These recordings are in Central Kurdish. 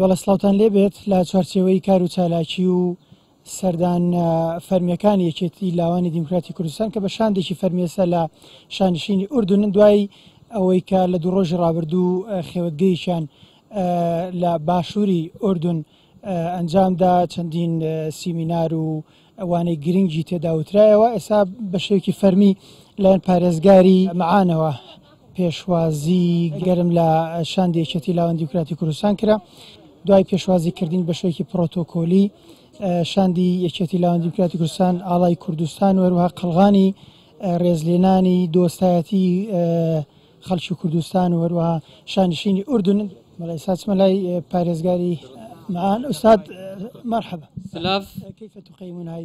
بەڵێ سڵاوتان لێبێت لە چوارچێوەی کار و چالاکی و سەردان فەرمیەکانی یەکێتی لاوانی دیموکراتی کوردستان کە بە شاندێکی فەرمیێسە لە شانشینی ئوردن دوای ئەوەی کە لە دوو ڕۆژی ڕابردوو خێوەتگەیەکیان لە باشووری ئوردن ئەنجامدا چەندین سیمینار و وانەی گرنگی تێدا وترایەوە، ئێستا بە شێوەیەکی فەرمی لایەن پارێزگاری مەعانەوە پێشوازی گەرم لە شاندی یەکێتی لاوان دیموکراتی کوردستان کرا. دوای پێشوازی کردین بە شێوەیەکی پرۆتۆکۆلی شاندی یەکێتی لاوان دیموکراتی کوردستان ئاڵای کوردستان و هەروەها قەڵغانی ڕێزلێنانی دۆستایەتی خەڵکی کوردستان و هەروەها شانشینی ئوردن. بەڵێ ئێستا چمە لای پارێزگاری معان ئوستاد مەرحەبا. سلاv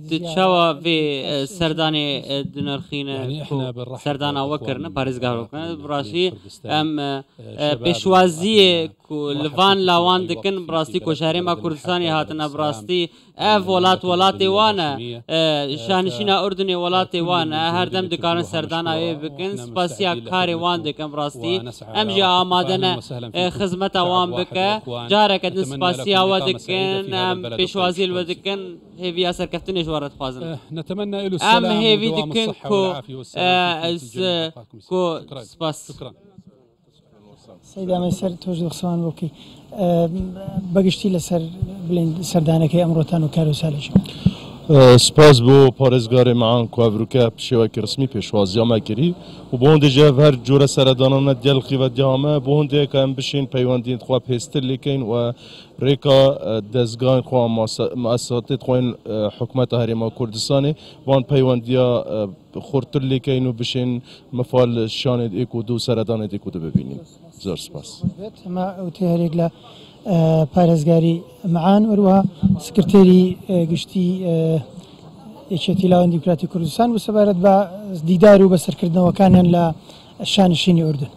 Tu çawa vê serdanê dinirxîne ku serdana we kirine parêzgeha we kirine bi rastî em pêşwaziyê ku li van lawan dikin bi rastî ku ji herêma Kurdistanê hatine bi rastî Ev welat welatê wan e. Şahnişîna Urdunê welatê wan e. Her dem dikarin serdana wê bikin. Spasiya karê wan dikin bi rastî. Em jî amade ne xizmeta wan bike. Careke din spasiya we dikin. Em pêşwaziyê li we dikin. Hêviya serkeftinê ji we re dixwazin. Em hêvî dikin ku ku spas. سەیدا مەیسەر تۆش دەخسەوان بۆ بکەی بەگشتی لەسەر بڵێن سەردانەکەی ئەمڕۆتان و کاروسالێکی. سپاس بۆ پارێزگارێ معان کو ئەڤروکە بشێوەکی ڕسمی پێشوازیا مە کری و بۆ هەندێ ژە هەر جۆرە سەردانانە دیەل خیوە دیامە بۆ هەندێک کە ئەم بشین پەیوەندیت خوا پێستر لێکەین و ڕێکا دەزگای خوا مؤسساتێت خوین حکومەتە هەرێما کوردستانێ وان پەیوەندیا خورتر لێکەین و بشین مفال شانێت ئێک و دوو سەردانێت ئێک و دوو ببینین. زۆر سپاس. ئەمە وتەی هەریەک لە پارێزگاری معان وەروەها سکرتێری گشتی یەکێتی لاوان دیموکراتی کوردستان بوو سەبارەت بە دیدار و بەسەرکردنەوەکانیان لە شانشینی ئوردن.